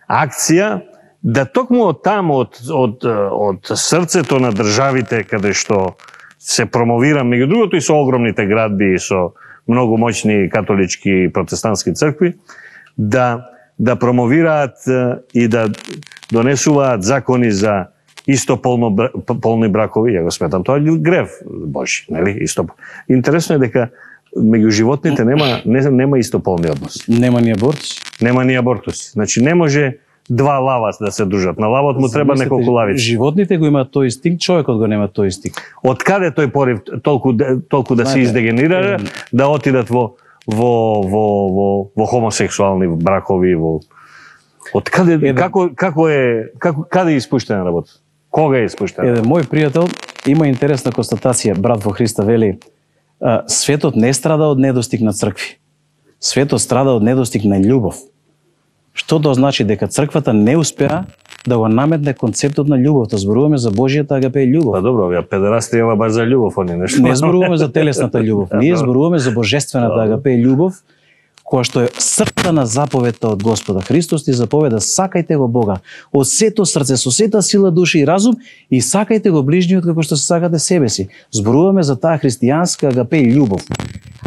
Speaker 1: акција, да токму од таму, од срцето на државите, каде што се промовира, меѓу другото и со огромните градби и со многу моćни католички и протестантски цркви, да промовираат и да донесуваат закони за истополни бракови. Ја го сметам тоа грев Божи, нели? Интересно е дека меѓу животните нема истополни односи.
Speaker 2: Нема ни абортуси.
Speaker 1: Нема ни абортуси. Значи не може два лава да се дружат. На лавот му треба неколку лавици.
Speaker 2: Животните го имаат тој инстинкт, човекот го нема тој инстинкт.
Speaker 1: Од каде тој порив толку да се издегенира, да отидат во хомосексуални бракови, од каде каде е испуштена работа? Кога е испуштена?
Speaker 2: Еден мој пријател има интересна констатација, брат во Христа, вели: светот не страда од недостиг на цркви. Светот страда од недостиг на љубов. Што тоа значи? Дека црквата не успеа да го наметне концептот на љубовта. Зборуваме за Божјата агапе љубов.
Speaker 1: Па добро, ја педерасти ова баш за љубов, они нешто.
Speaker 2: Не зборуваме за телесната љубов. Ние зборуваме за божествената агапе љубов, која што е срцана заповедта од Господа. Христос ти заповеда: сакајте го Бога од сето срце, со сета сила, душа и разум, и сакајте го ближниот како што се сакате себе си. Зборуваме за таа христијанска агапе љубов.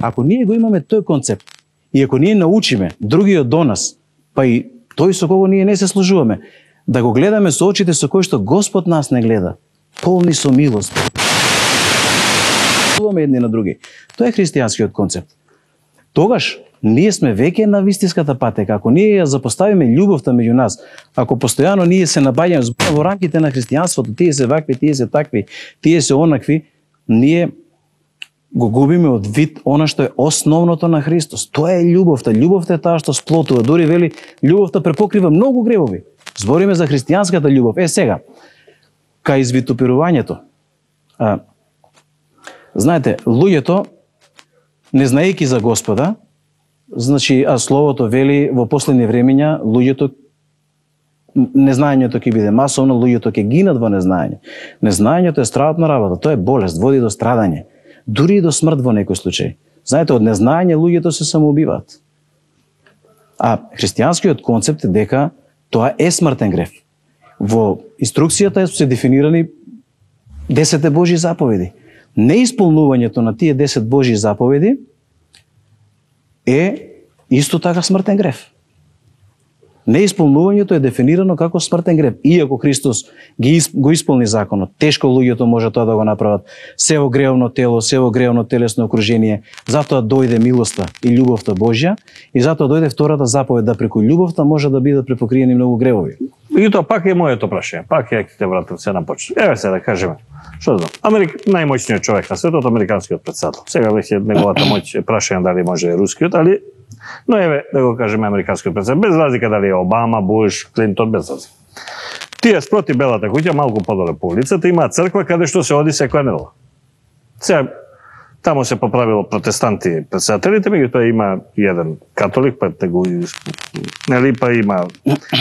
Speaker 2: Ако ние го имаме тој концепт, и ако ние научиме другиот до нас, па и тој со кого ние не се служуваме, да го гледаме со очите со кои што Господ нас не гледа, полни со милост, едни на други. Тоа е христијанскиот концепт. Тогаш ние сме веќе на вистинската патека. Ако ние ја запоставиме љубовта меѓу нас, ако постојано ние се набаѓаме во рамките на христијанството, тие се вакви, тие се такви, тие се онакви, ние го губиме од вид она што е основното на Христос. Тоа е љубовта. Љубовта е таа што сплотува. Дори вели, љубовта препокрива многу гревови. Збориме за христијанската љубов. Сега, кај извитопирувањето. Знаете, луѓето, не знаејќи за Господа, значи, а Словото вели во последни времења, луѓето, незнаењето ќе биде масовно, луѓето ќе гинат во незнаење. Незнаењето е страшна работа, тоа е болест, води до страдање, дури и до смрт во некој случај. Знаете, од незнаење луѓето се самоубиваат. А христијанскиот концепт е дека тоа е смртен грев. Во инструкцијата се дефинирани 10 Божји заповеди. Неисполнувањето на тие 10 Божји заповеди е исто така смртен грев. Неисполнувањето е дефинирано како смртен грев. Иако Христос го исполни законот, тешко луѓето може тоа да го направат. Се во гревно тело, се во гревно телесно окружение, затоа дојде милоста и љубовта Божја, и затоа дојде втората заповед, да преку љубовта може да бидат препокриени многу гревови.
Speaker 1: И тоа пак е моето прашање. Пак ја ќе те вратам се на почет. Еве се да кажеме. Што знам? Најмоćниот човек на светот, американскиот председател. Сега веќе неговата моќ е прашање дали може рускиот, али но еве да го кажеме американскиот председател, без разлика дали е Обама, Буш, Клинтон, без разлика. Тие спроти Белата куќа, малку подоле по улицата, има црква каде што се оди секоја недела. Сега таму се поправило протестанти председателите, меѓутоа има еден католик, па те го нели па има,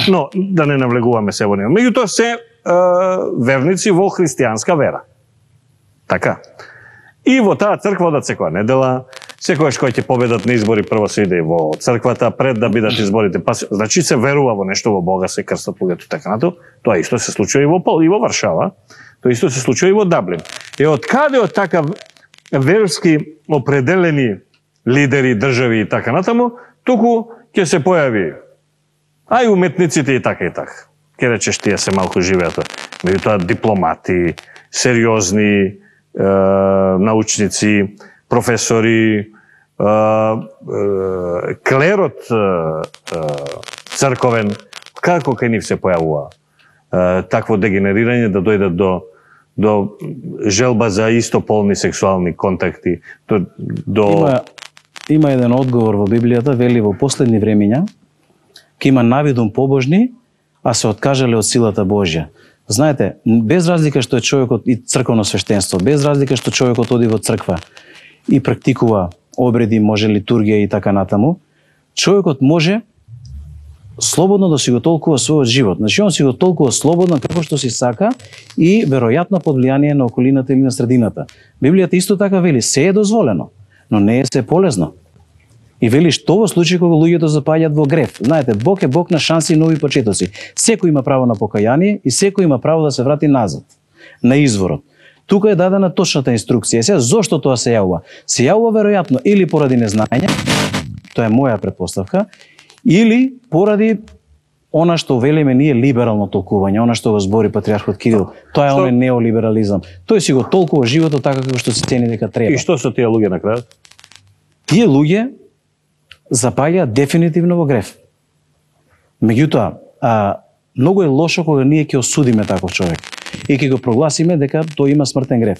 Speaker 1: но да не навлегуваме се во него. Меѓутоа се верници во христијанска вера. Така. И во таа црква одат секоја недела, секојаш кој ќе победат на избори, прво се иде во црквата пред да бидат изборите. Па, значи се верува во нешто, во Бога, се крстат луѓето така натаму. Тоа исто се случува и во Варшава, тоа исто се случува и во Даблин. И од каде од така верски определени лидери, држави и така натаму, туку ќе се појави ај уметниците и така и така. Ке речеш тие се малку живеат. Меѓутоа дипломати, сериозни научници, професори, клерот црковен, како кај нив се појавува такво дегенерирање да дојдат до желба за истополни сексуални контакти,
Speaker 2: Има еден одговор во Библијата, вели во последни времења ќе има навидум побожни, а се откажале од силата Божја. Знаете, без разлика што е човекот и црковно свештенство, без разлика што човекот оди во црква и практикува обреди, може литургија и така натаму, човекот може слободно да си го толкува својот живот. Значи, он си го толкува слободно како што си сака и веројатно под влијание на околината или на средината. Библијата исто така вели, се е дозволено, но не е се полезно. И вели што во случај кога луѓето запаѓаат во грев. Знаете, Бог е Бог на шанси и нови почетоци. Секој има право на покаяние и секој има право да се врати назад, на изворот. Тука е дадена точната инструкција. Сега, зошто тоа се јавува? Се јавува веројатно или поради незнаење, тоа е моја претпоставка, или поради она што велиме ние либерално толкување, она што го збори патриархот Кирил. Тоа е оној неолиберализам. Тој си го толкува животот така како што се цени дека треба.
Speaker 1: И што со тие луѓе на крајот?
Speaker 2: Тие луѓе запаѓаат дефинитивно во грев. Меѓутоа, многу е лошо кога ние ќе осудиме таков човек и ќе го прогласиме дека тој има смртен грев.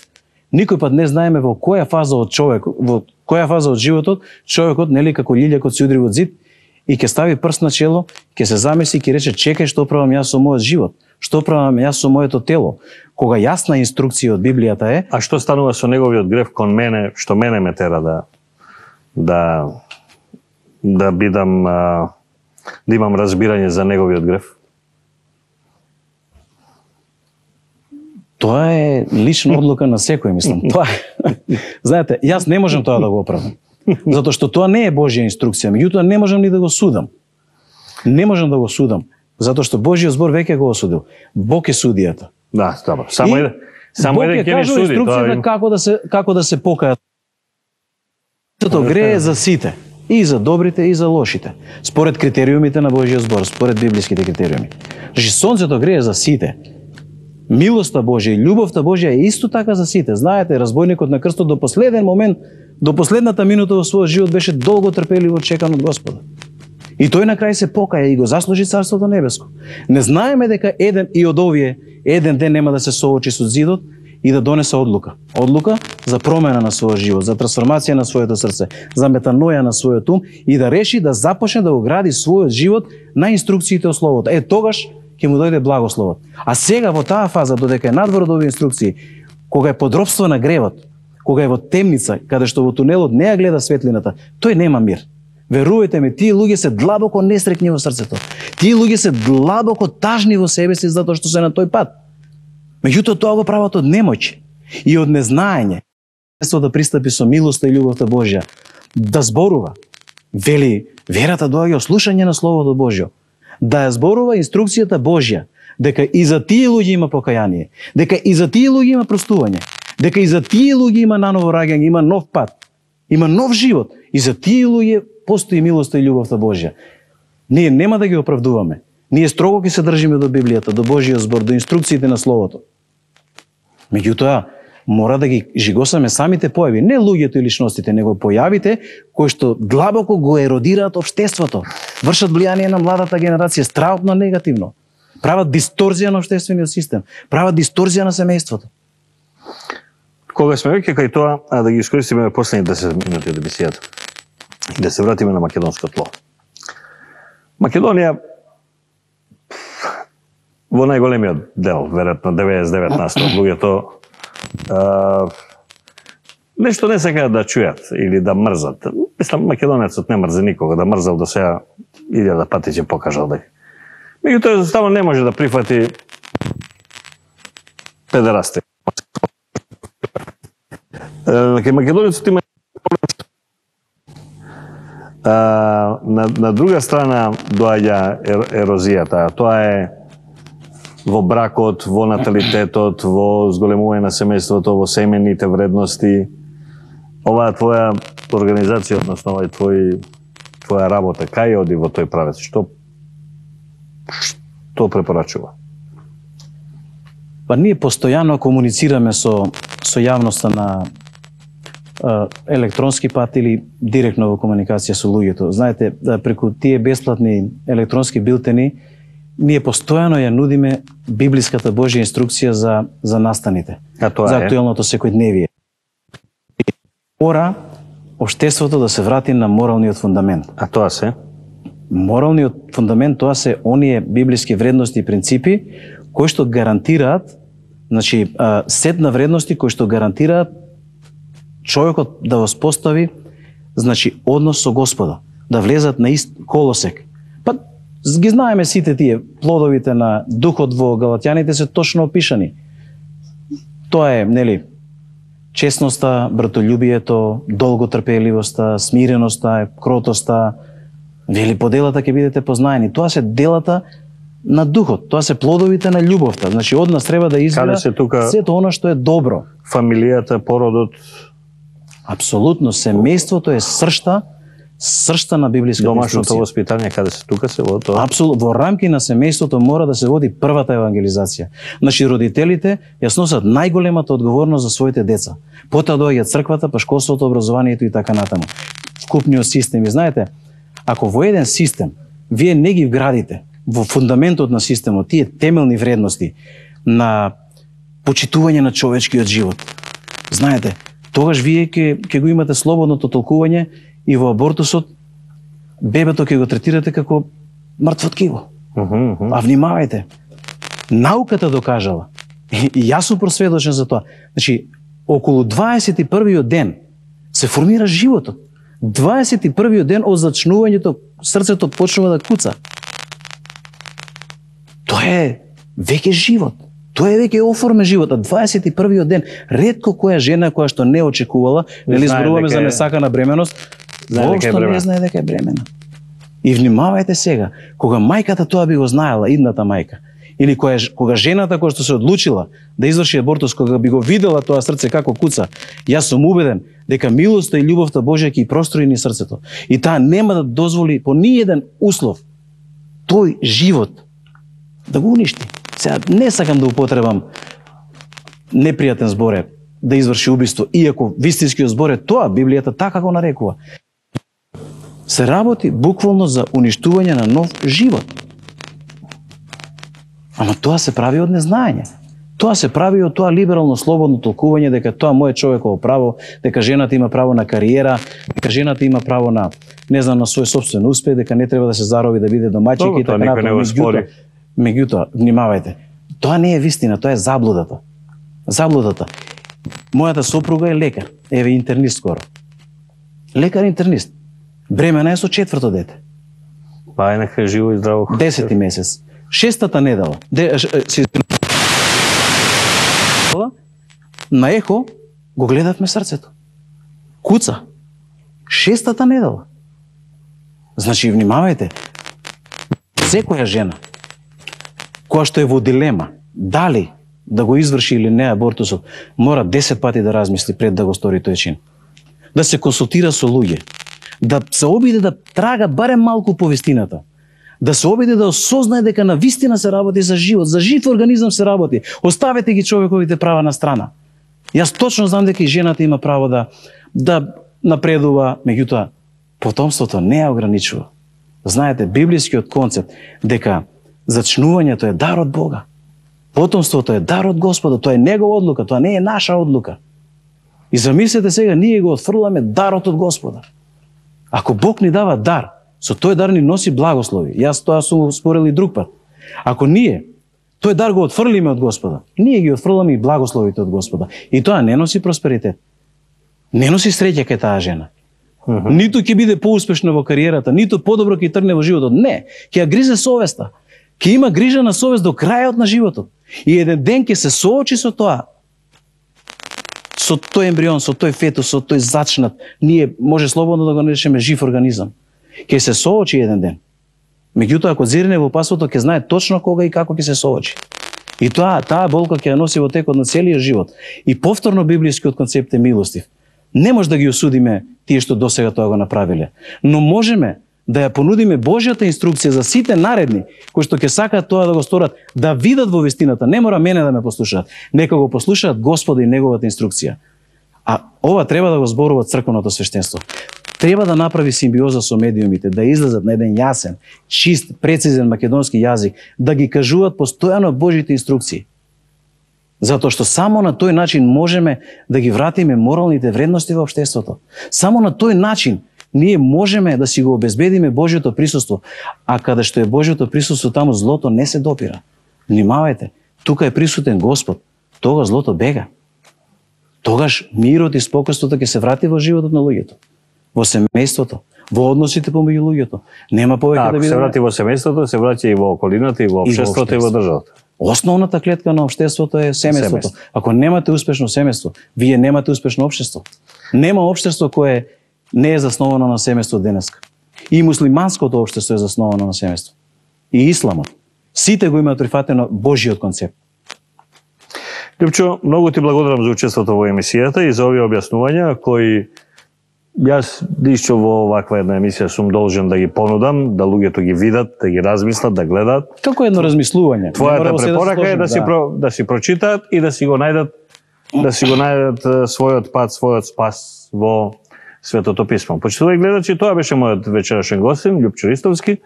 Speaker 2: Никој пат не знаеме во која фаза од животот човекот, нели, како лилјакот се удри во зид и ќе стави прст на чело, ќе се замисли и ќе рече: чекај, што правам јас со мојот живот? Што правам јас со моето тело? Кога јасна инструкција од Библијата е...
Speaker 1: А што станува со неговиот грев кон мене, што мене ме тера да бидам, да имам разбирање за неговиот грев?
Speaker 2: Тоа е лична одлука на секој, мислам. Тоа знаете, јас не можам тоа да го оправдам. Затоа што тоа не е Божја инструкција, меѓутоа не можам ни да го судам. Не можам да го судам, затоа што Божјиот збор веќе го осудил. Бог е судијата.
Speaker 1: Да, добро. Само еден ќе ни суди.
Speaker 2: Инструкцијата како да се покајат. Тоа грее за сите, и за добрите и за лошите, според критериумите на Божјиот збор, според библиските критериуми. Значи сонцето грее за сите. Милоста Божја и љубовта Божја е исто така за сите. Знаете, разбойникот на крстот до последен момент, до последната минута во својот живот беше долго трпеливо чекан од Господа. И тој на крај се покаја и го заслужи Царството небеско. Не знаеме дека еден и од овие еден ден нема да се соочи со зидот и да донесе одлука. Одлука за промена на својот живот, за трансформација на своето срце, за метаноја на својот ум и да реши да започне да го гради својот живот на инструкциите од Словото. Тогаш ќе му дојде благословот. А сега во таа фаза, додека е надвор од овие инструкции, кога е под робство на гревот, кога е во темница, каде што во тунелот не ја гледа светлината, тој нема мир. Верувајте ми, тие луѓе се длабоко несреќни во срцето. Тие луѓе се длабоко тажни во себе си затоа што се на тој пат. Меѓутоа тоа го прават од немоќ и од незнаење. Место да пристапи со милоста и љубовта Божја, да зборува. Вели, верата доаѓа од слушање на Словото Божјо. Да ја зборува инструкцијата Божја, дека и за тие луѓе има покаяние, дека и за тие луѓе има простување, дека и за тие луѓе има наново раѓање, има нов пат, има нов живот. И за тие луѓе постои милоста и љубовта Божја. Ние нема да ги оправдуваме. Ние строго ќе се држиме до Библијата, до Божјиот збор, до инструкциите на Словото. Меѓутоа, мора да ги жигосаме самите појави, не луѓето и личностите, него појавите кои што длабоко го еродираат општеството, вршат влијание на младата генерација, страутно негативно, прават дисторзија на општествениот систем, прават дисторзија на семејството.
Speaker 1: Кога сме веќе кај тоа, да ги искористиме последните 10 минути од емисијата и да се вратиме на македонско тло. Македонија во најголемиот дел, веројатно 99% од луѓето нешто не сакаат да чујат или да мрзат. Мислам, македонецот не мрзи никога, да мрзал до сега 1000 пати ќе покажал дека. Меѓутоа, едноставно не може да прифати педерасти. Кај македонецот има на друга страна доаѓа ерозијата. Тоа е во бракот, во наталитетот, во зголемување на семејството, во семејните вредности. Оваа твоја организација, односно овај твоја работа, кај оди во тој правец? Што препорачува?
Speaker 2: Па ние постојано комуницираме со јавноста на електронски пат или директно во комуникација со луѓето. Знаете, преку тие бесплатни електронски билтени, ние постојано ја нудиме библиската Божја инструкција за настаните, за актуелното секојдневие. Мора општеството да се врати на моралниот фундамент.
Speaker 1: А тоа се?
Speaker 2: Моралниот фундамент, тоа се оние библиски вредности и принципи кои што гарантираат, значи, сет на вредности кои што гарантираат човекот да воспостави, значи, однос со Господа, да влезат на ист колосек. Па ги знаеме сите тие плодовите на духот во Галатјаните се точно опишани. Тоа е, нели, честноста, братолюбието, долготрпеливоста, смиреноста, кротоста. Вели, по делата ќе бидете познаени. Тоа се делата на духот, тоа се плодовите на љубовта. Значи, од нас треба да извира сето оно што е добро.
Speaker 1: Фамилијата, породот.
Speaker 2: Апсолутно, семејството е сршта на библиската инструкција.
Speaker 1: Домашното воспитание, каде се тука се во тоа?
Speaker 2: Апсолутно, во рамки на семејството мора да се води првата евангелизација. Значи, родителите ја сносат најголемата одговорност за своите деца. Потоа доаѓа црквата, па школството, образованието и така натаму. Вкупниот систем. И знаете, ако во еден систем вие не ги вградите во фундаментот на системот тие темелни вредности на почитување на човечкиот живот, знаете, тогаш вие ќе го имате слободното толкување и во абортусот бебето ќе го третирате како мртво ткиво. А внимавајте, науката докажала, и јас сум просведочен за тоа, значи, околу 21-виот ден се формира животот. 21-виот ден од зачнувањето срцето почнува да куца. Тоа е веќе живот. Тоа е веќе оформен живот, 21-виот ден. Ретко која жена која што не очекувала, нели зборуваме за несакана бременост, воопшто не знае дека е бремена. И внимавајте сега, кога мајката тоа би го знаела, идната мајка, или кога жената која што се одлучила да изврши абортус, кога би го видела тоа срце како куца, јас сум убеден дека милоста и љубовта Божја ќе простори ни срцето. И таа нема да дозволи по ниеден услов тој живот да го уништи. Сега не сакам да употребам непријатен збор да изврши убиство, иако вистинскиот збор е тоа, Библијата така го нарекува. Се работи буквално за уништување на нов живот. Ама тоа се прави од незнаење. Тоа се прави од тоа либерално слободно толкување дека тоа мое човеково право, дека жената има право на кариера, дека жената има право на, не знам, на свој собствен успех, дека не треба да се зароби да биде домаќинка и така натаму. Меѓутоа, внимавајте, тоа не е вистина, тоа е заблудата. Заблудата. Мојата сопруга е лекар, еве интернист скоро. Лекар интернист. Бремена е со 4-то дете.
Speaker 1: Па е нека живо и здраво.
Speaker 2: 10-ти месец. 6-та недела. На ехо го гледавме срцето. Куца. 6-та недела. Значи, внимавајте. Секоја жена која што е во дилема, дали да го изврши или не абортусот, мора 10 пати да размисли пред да го стори тој чин. Да се консултира со луѓе, да се обиде да трага барем малку по вистината, да се обиде да осознае дека на вистина се работи за живот, за жив организам се работи. Оставете ги човековите права на страна. Јас точно знам дека и жената има право да напредува, меѓутоа потомството не ја ограничува. Знаете, библискиот концепт дека зачнувањето е дар од Бога. Потомството е дар од Господа, тоа е негова одлука, тоа не е наша одлука. И замислете сега, ние го отфрламе дарот од Господа. Ако Бог ни дава дар, со тој дар ни носи благослови. Јас тоа сум спорил и друг пат. Ако ние тој дар го отфрлиме од Господа, ние ги отфрламе и благословите од Господа. И тоа не носи просперитет. Не носи среќа кај таа жена. Ниту ќе биде поуспешна во кариерата, ниту подобро ќе тргне во животот. Не, ќе ја гризе совеста. Ќе има грижа на совест до крајот на животот. И еден ден ќе се соочи со тоа. Со тој ембрион, со тој фетус, со тој зачнат, ние може слободно да го наречеме жив организам. Ќе се соочи еден ден. Меѓутоа, ако зирне во пасвото, ќе знае точно кога и како ќе се соочи. И таа болка ќе ја носи во текот на целиот живот. И повторно библискиот концепт е милостив. Не може да ги осудиме тие што досега тоа го направиле, но можеме да ја понудиме Божјата инструкција за сите наредни кои што ќе сакаат тоа да го сторат, да видат во вистината. Не мора мене да ме послушаат, нека го послушаат Господа и неговата инструкција. А ова треба да го зборува црквеното свештенство. Треба да направи симбиоза со медиумите, да излезат на еден јасен, чист, прецизен македонски јазик, да ги кажуваат постојано Божјите инструкции. Затоа што само на тој начин можеме да ги вратиме моралните вредности во општеството. Само на тој начин ние можеме да си го обезбедиме Божјото присуство. А каде што е Божјото присуство, таму злото не се допира. Внимавајте, тука е присутен Господ, тога злото бега. Тогаш мирот и спокојството ќе се врати во животот на луѓето, во семејството, во односите помеѓу луѓето. Нема повеќе да биде.
Speaker 1: Ако се врати во семејството, се враќа и во околината, и во општеството, и во државата.
Speaker 2: Основната клетка на општеството е семејството. Ако немате успешно семејство, вие немате успешно општество. Нема општество кое не е засновано на семејство денеска. И муслиманското општество е засновано на семејство. И исламот. Сите го имаат прифатено Божјиот концепт.
Speaker 1: Лјупчо, многу ти благодарам за учеството во емисијата и за овие објаснувања кои јас лично во оваква една емисија сум должен да ги понудам, да луѓето ги видат, да ги размислат, да гледат.
Speaker 2: Како едно размислување.
Speaker 1: Твојата препорака е да си прочитаат и да си го најдат својот пат, својот спас во Светото писмо. Почитувајќи гледачи, тоа беше мојот вечерашен гостин, Лјупчо Ристовски,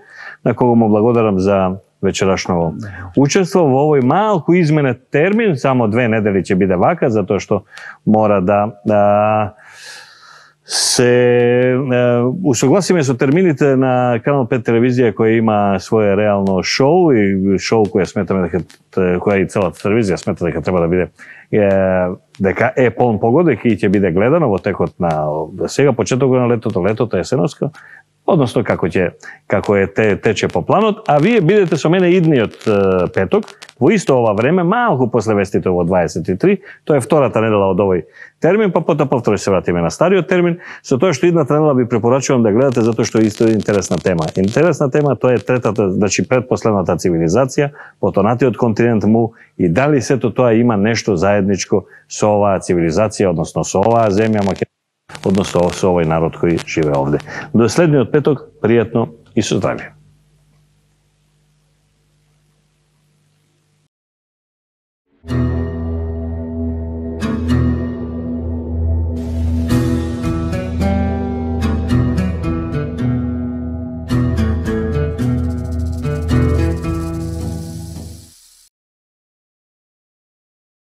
Speaker 1: на кого му благодарам за вечерашно учество во овој малку изменет термин, само 2 недели ќе биде вака, затоа што мора да се усогласиме со термините на Канал 5 телевизија која има свое реално шоу и шоу која сметаме дека која и целата телевизија смета дека треба да биде дека е полн погода и ќе биде гледано во текот на сега почетокот на летото, есеноска, односно како тече по планот, а вие бидете со мене идниот петок, во исто ова време, малку после вестите во 23, тоа е втората недела од овој термин, па потоа повторно се вратиме на стариот термин, со тоа што идната недела ви препорачувам да гледате затоа што е исто интересна тема. Интересна тема, тоа е третата, значи предпоследната цивилизација, потонатиот континент му, и дали сето тоа има нешто заедничко со оваа цивилизација, односно со оваа земја Македонија, односно со овој народ кој живее овде. До следниот петок, пријатно и со здравје.